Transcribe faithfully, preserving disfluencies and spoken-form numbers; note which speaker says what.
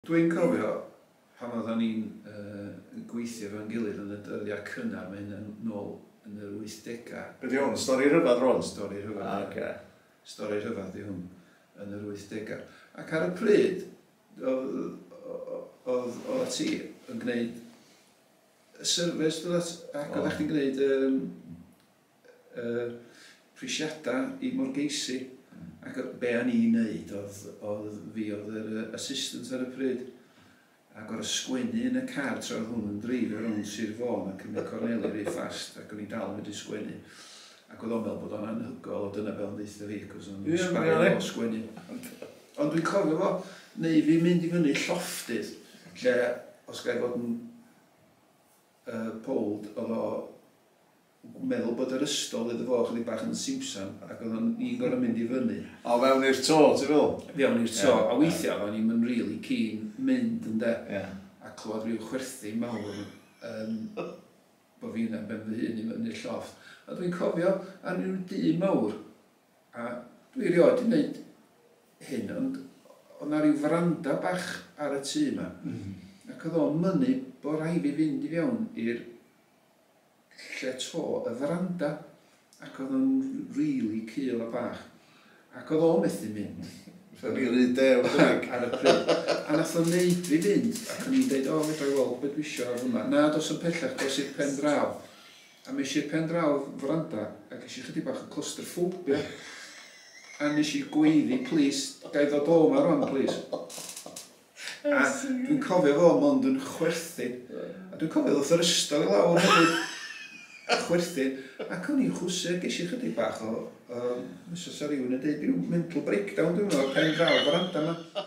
Speaker 1: Dwi'n cofio pan oeddan ni'n uh, gweithio efo'n gilydd yn y dyddiau cynnar, mae hyn yn nôl yn yr wythdegau.
Speaker 2: Be di hwn? Stori rhyfedd rwan?
Speaker 1: Stori rhyfedd.
Speaker 2: Ah, oce.
Speaker 1: Stori rhyfedd di hwn yn yr wythdegau. Ac ar y pryd, oedd oedd oedd ti yn gwneud y service, dod ac oeddech chdi'n gwneud um, uh, prisiadau i morgeisi. Ac be o'n i'n neud oedd, oedd fi oedd yr yy, assistant ar y pryd. Ac o'r sgwennu yn y car tra oedd hwn yn dreifio rownd Sir Fôn ac yn y corneli rhy fast, ac o'n i dal yn medru sgwennu. Ac oedd o'n meddwl bod o'n anhygoel, o dyna fel yn deutha fi, cos o'n
Speaker 2: Ie,
Speaker 1: sbario
Speaker 2: ie.
Speaker 1: o sgwennu. Ond dwi'n cofio fo, neu fi mynd i fyny llofftydd, lle, os ga i fod yn uh, bold, oedd o meddwl bod yr ystol iddo fo chydig bach yn simsan, ac oedd o'n i'n gorfod mynd i fyny.
Speaker 2: O, fewn i'r to, ti'n fel?
Speaker 1: Fewn i'r to,
Speaker 2: Ie,
Speaker 1: a weithiau o'n i'n really keen mynd yn de,
Speaker 2: Ie.
Speaker 1: a clywed rhyw chwerthu mawr um, bod fi yna ben fy hun i fyny'r llofft. A dwi'n cofio ar ryw dŷ mawr, a dwi erioed wedi gwneud hyn, ond oedd 'na ryw faranda bach ar y tŷ yma.
Speaker 2: Mm.
Speaker 1: Ac oedd o'n mynnu bod rhaid fi fynd i fewn i'r lle to y faranda. Ac oedd o'n really cul a bach. Ac oedd o'n methu mynd.
Speaker 2: Rhy rhy dew, debyg.
Speaker 1: Ar y pryd. A nath o'n neud fi fynd, ac o'n i'n deud, "O, fedra i weld beth dwi isio ar hwnna." "Na, dos yn pellach, dos i'r pen draw." A mes i'r pen draw faranda, ac es i chydig bach o claustrophobia. A nes i gweiddi, "Please, ga i ddod o 'ma rwan, please?" A dwi'n cofio fo mond yn chwerthin. A dwi'n cofio ddoth yr ystol i lawr hefyd. A chwerthin. Ac o'n i'n chwsu, ges i chydig bach o, um, os oes rhywun yn dweud, rhyw mental breakdown dwi'n meddwl, pen draw faranda yma.